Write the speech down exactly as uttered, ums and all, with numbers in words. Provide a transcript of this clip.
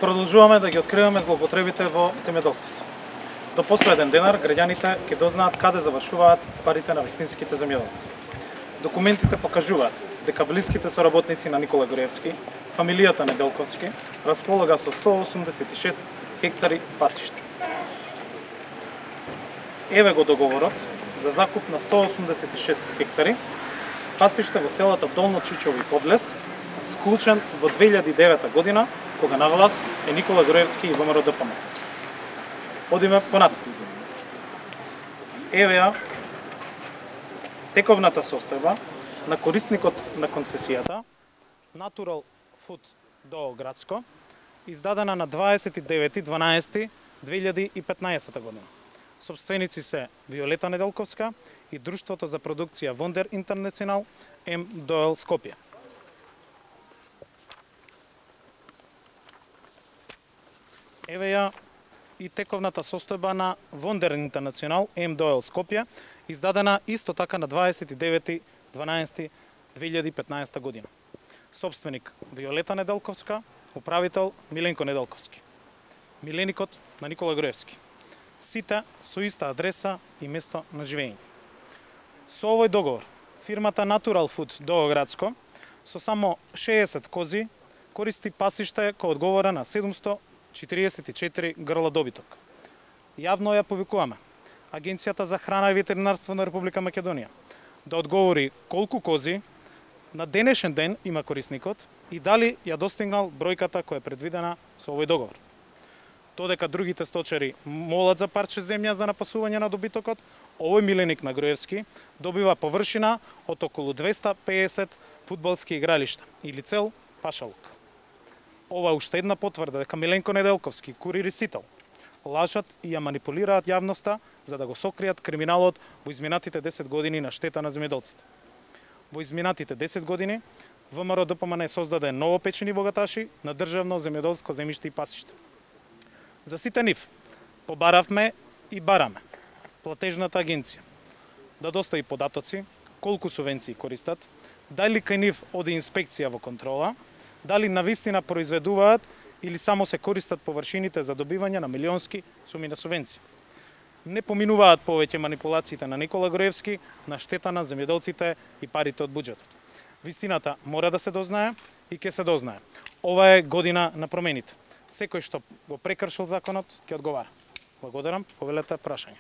Продолжуваме да ги откриваме злоупотребите во земјоделството. До последен денар граѓаните ќе дознаат каде завршуваат парите на вистинските земјоделци. Документите покажуваат дека блиските соработници на Никола Груевски, фамилијата Неделковски, располага со сто осумдесет и шест хектари пасиште. Еве го договорот за закуп на сто осумдесет и шест хектари пасиште во селата Долно Чичево и Подлес, склучен во две илјади и девета година, кога на власт е Никола Груевски и ВМРО Д П М. Одиме понатаму. Еве ја тековната состојба на корисникот на концесијата Natural Food ДОО Градско, издадена на дваесет и девети дванаести две илјади и петнаесета година. Собственици се Виолета Неделковска и Друштвото за продукција Вондер Интернационал М Д О Л Скопје. Еве ја и тековната состојба на Вондер Интернационал М Д О Л Скопје, издадена исто така на дваесет и девети дванаести две илјади и петнаесета година. Собственик Виолета Неделковска, управител Миленко Неделковски. Миленикот на Никола Груевски. Сите со иста адреса и место на живење. Со овој договор, фирмата Natural Food ДОО Градско со само шеесет кози користи пасиште кој одговора на седумсто четиридесет и четири грла добиток. Јавно ја повикуваме Агенцијата за храна и ветеринарство на Република Македонија да одговори колку кози на денешен ден има корисникот и дали ја достигнал бројката која е предвидена со овој договор. Додека другите сточари молат за парче земја за напасување на добитокот, овој миленик на Груевски добива површина од околу двеста пеесет фудбалски игралишта или цел пашалук. Ова е уште една потврда дека Миленко Неделковски, Курири Сител, лажат и ја манипулираат јавноста за да го сокријат криминалот во изминатите десет години на штета на земјоделците. Во изминатите десет години ВМРО Д П М не создаде новопечени богаташи на државно земјоделско земјиште и пасиште. За сите нив побаравме и бараме платежната агенција да достави податоци колку субвенции користат, дали кај нив оди инспекција во контрола, дали навистина произведуваат или само се користат површините за добивање на милионски суми на субвенции. Не поминуваат повеќе манипулациите на Никола Груевски на штета на земјоделците и парите од буџетот. Вистината мора да се дознае и ќе се дознае. Ова е година на промените. Секој што го прекршил законот ќе одговара. Благодарам, повелете прашања.